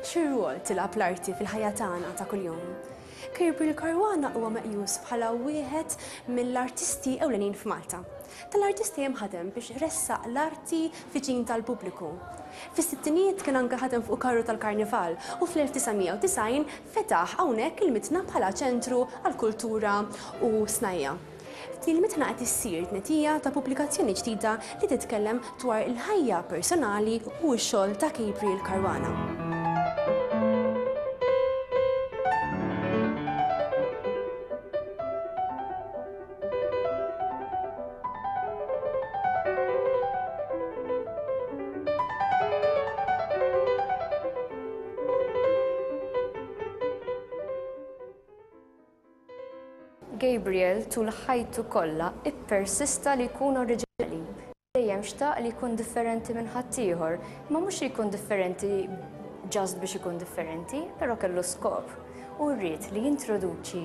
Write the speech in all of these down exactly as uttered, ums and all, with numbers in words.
Xi rwol tilgħab l-arti fil-ħajja tagħna ta' kuljum? Gabriel Caruana huwa meqjus bħala wieħed mill-artisti ewlenin f'Malta. Tal-artisti hemm ħadem biex ressaq l-arti viċin tal-pubbliku. Fis-sittinijiet kien anke ħadem fuq karru tal-Karnival u fl-elf disa' mija u disgħin fetaħ hawnhekk il-Mitħna bħala ċentru għall-kultura u snajja. F'din il-mitħna qed issir tnedija ta' pubblikazzjoni ġdida li titkellem dwar il-ħajja personali u x-xogħol ta' Gabriel Caruana. Gabriel tul ħajtu kollha ippersista li jkun oriġinali. Dejjem xtaq li jkun differenti minn ħaddieħor, ma mhux li jkun differenti just biex ikun differenti, però kellu skop. U rrid li jintroduċi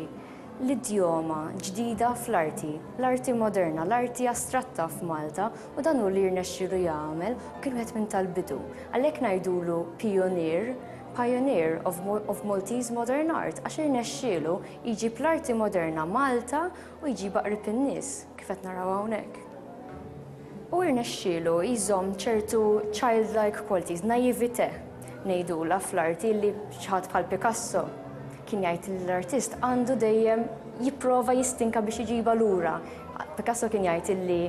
l-idjoma ġdida fl-arti, l-arti moderna, l-arti astratta f'Malta, u dan hu li rnexxielu jagħmel u kien wieħed minn tal-bidu. Għalhekk ngħidulu pionier, pioneer of, of Maltese modern art, għax irnexxielu jġib l-arti moderna Malta u jġibha qrib in-nies, kif qed naraw hawnhekk. U irnexxielu jżomm ċertu childlike qualities, naivete ngħidula fl-arti, li xi ħadd bħal Picasso kien jgħid li l-artist għandu dejjem jipprova jistinka biex iġiba lura. Picasso kien jgħid li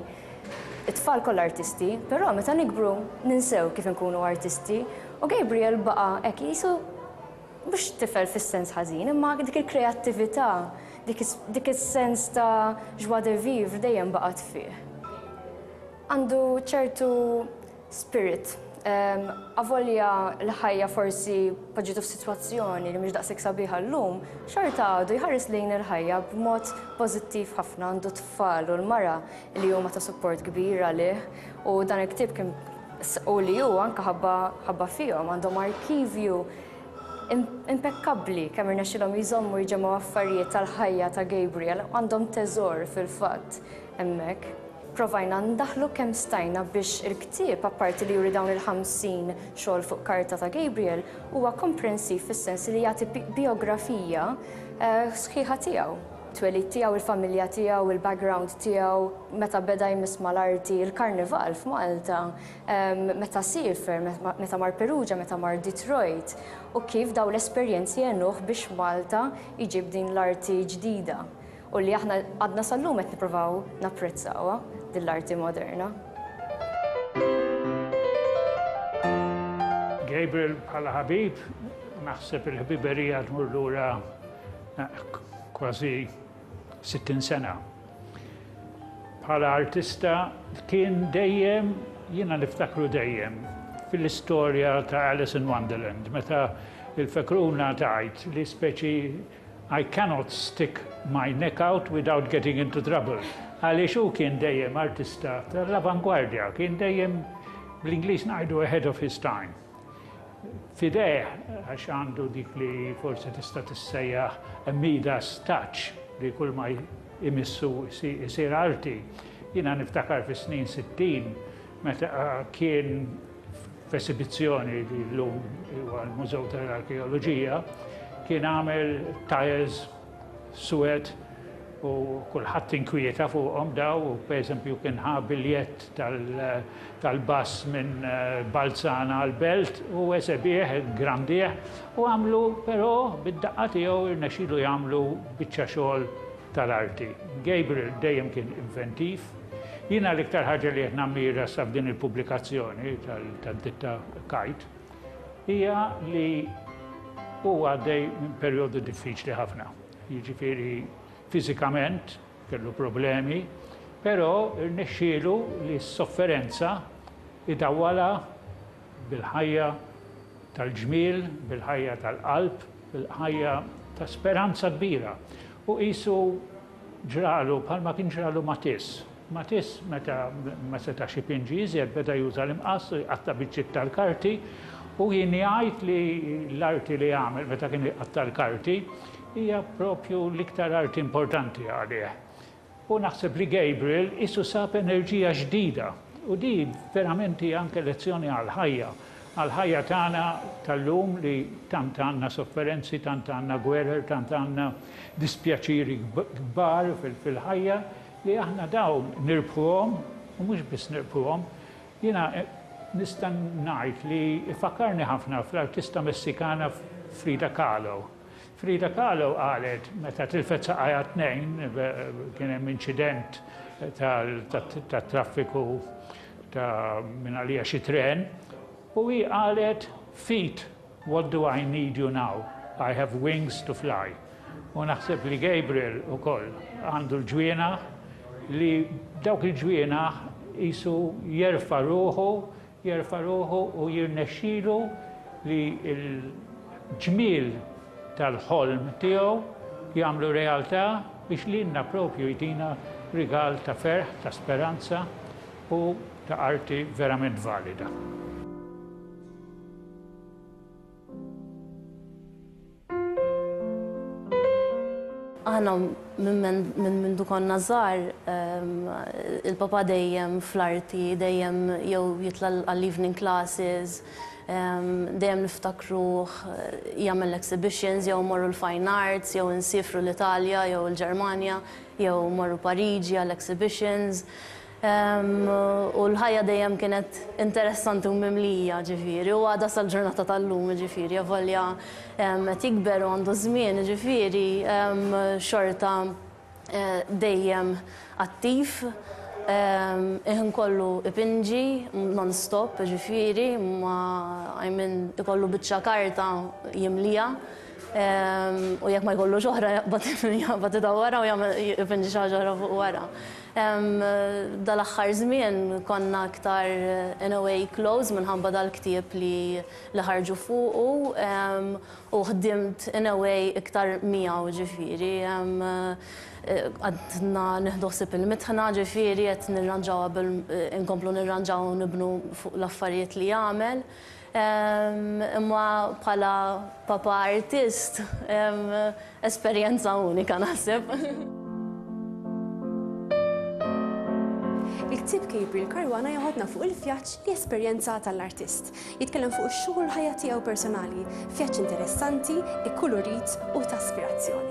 it-tfal kollha artisti, però meta nikbru ninsew kif inkunu artisti, u Gabriel baqa' hekk, qisu mhux tifel fis-sens ħażin, imma dik il-kreattività, dik is-sens ta' joie de vivre dejjem baqgħet fih. Għandu ċertu spirit. Um, avolja l-ħajja forsi poġġitu f'sitwazzjoni li mhux daqshekk sabiħa llum, xorta għadu jħares lejn il-ħajja b'mod pożittiv ħafna. Għandu tfal u l-mara li huma ta' support kbir għalih, u dan il-ktieb kien u li hu anke ħabba ħabba fihom. Għandhom arkivju impekkabbli, kemm irnexxilhom jżommu, jġemgħu affarijiet tal-ħajja ta' Gabriel, għandhom teżor fil-fatt hemmhekk. Provajna ndaħlu kemm stajna biex il-ktieb, apparti li juri dawn il-ħamsin xogħol fuq karta ta' Gabriel, huwa komprensiv fis-sens li jagħti biografija eh, sħiħa tiegħu. Twelid tiegħu, il-familja tiegħu, il-background tiegħu, meta beda jmiss mal-arti, il-karnival f'Malta, meta siefer, meta mar Perugia, meta mar Detroit, u kif daw l-esperjenzi għenuh biex Malta jġib din l-arti ġdida u li aħna għadna sal-lum qed nippruvaw napprezzawha, din l-arti moderna. Gabriel bħala ħabib, naħseb il-ħbiberija tmur lura eh, kważi sittin sena. Bħala artista kien dejjem, jiena niftakru dejjem, fil-istorja ta' Alice in Wonderland, meta il-fekruna tgħid li speċi "I cannot stick my neck out without getting into trouble." Għaliex hu kien dejjem artista tal-avangwardja, kien dejjem, bl-Ingliż ngħidu, ahead of his time. F'idejh, għax għandu dik li forsi tista' tissejjaħ a Midas touch, li kull ma imissu isir arti. Jiena niftakar fi snin sittin meta kien f'esibizzjoni li l-lum huwa l-Mużew tal-Arkeoloġija, kien għamel tiles suwed u kulħadd inkwieta fuqhom daw, u pereżempju kien ħa biljett tal-bus minn eh, Balzana għal Belt u esebih, grandih u għamlu, però bid-daqqa tiegħu irnexxielu jagħmlu biċċa xogħol tal-arti. Gabriel dejjem kien inventiv. Jiena l-iktar ħaġa li qed nammira sa f'din il-pubblikazzjoni tad-ditta Kite hija li huwa għaddej minn perjodu diffiċli ħafna. Jiġifieri fiżikament kellu problemi, però rnexxielu li s-sofferenza idawwala bil-ħajja tal-ġmiel, bil-ħajja tal-qalb, bil-ħajja ta' speranza kbira. U qisu ġralu bħalma kien ġralu Matisse. Matisse, meta ma setax ipinġi iżjed, beda juża l-imqass u jqatta' biċċiet tal-karti, u jien jgħid li l-arti li għamel meta kien jqatta' l-karti hija propju l-iktar arti importanti għalih. U naħseb li Gabriel qisu sab enerġija ġdida u di verament hija anke lezzjoni għal-ħajja. Għal-ħajja tagħna tal-lum li tant għandna sofferenzi, tant għandna gwerer, tant għandna dispjaċiri kbar fil-ħajja li aħna dawn nirbħuhom u mhux biss nirbħuhom. Jiena nista' ngħid li fakkarni ħafna fl-artista Messikana Frida Kahlo. Frida Kahlo qalet meta tilfet saqajha tnejn, kien hemm inċident tat-traffiku ta' minn għalija xi tren, u hi qalet, "Feet, what do I need you now? I have wings to fly." U naħseb li Gabriel ukoll għandu l-ġwienaħ li dawk il-ġwienaħ jisu jerfa' ruħu, jerfa' ruħu u jirnexxilu li l-ġmiel tal-ħolm tiegħu jagħmlu realtà biex lilna propju jtina rigal ta' ferħ, ta' speranza u ta' arti verament valida. Aħna minn mindu konna żgħar, il-papa dejjem fl-arti, dejjem jew jitla' għall-evening classes, dejjem niftakruh jagħmel exhibitions, jew morru l-fine arts, jew insifru l-Italja, jew l-Ġermanja, jew morru Pariġi għall-exhibitions. U l-ħajja dejjem kienet interessanti u mimlija, ġifieri, u għadha sal-ġurnata tal-lum, ġifieri, avolja qed jikber u għandu żmien, ġifieri, xorta dejjem attiv, iħin kollu ipinġi, non-stop, ġifieri, ma I mean, ikollu biċċa karta jimlija, u jekk ma jkollux oħra jaqbad idawwarha u jagħmel ipinġi xi ħaġa oħra fuq wara. Dal-aħħar żmien konna aktar in a way close minħabba dal-ktieb li li ħarġu fuqu u ħdimt in a way iktar miegħu, ġifieri. Għadna nieħdu ħsieb il-mitħna, ġifieri qed nirranġaw qabel inkomplu nirranġaw u nibnu fuq l-affarijiet li jagħmel. Imma bħala papa artist, esperjenza unika naħseb. Il-ktieb Gabriel Caruana joħodna fuq il-vjaġġ li esperjenza tal-artist. Jitkellem fuq ix-xogħol ħajja tiegħu personali, vjaġġ interessanti, ikkulurit u ta' aspirazzjoni.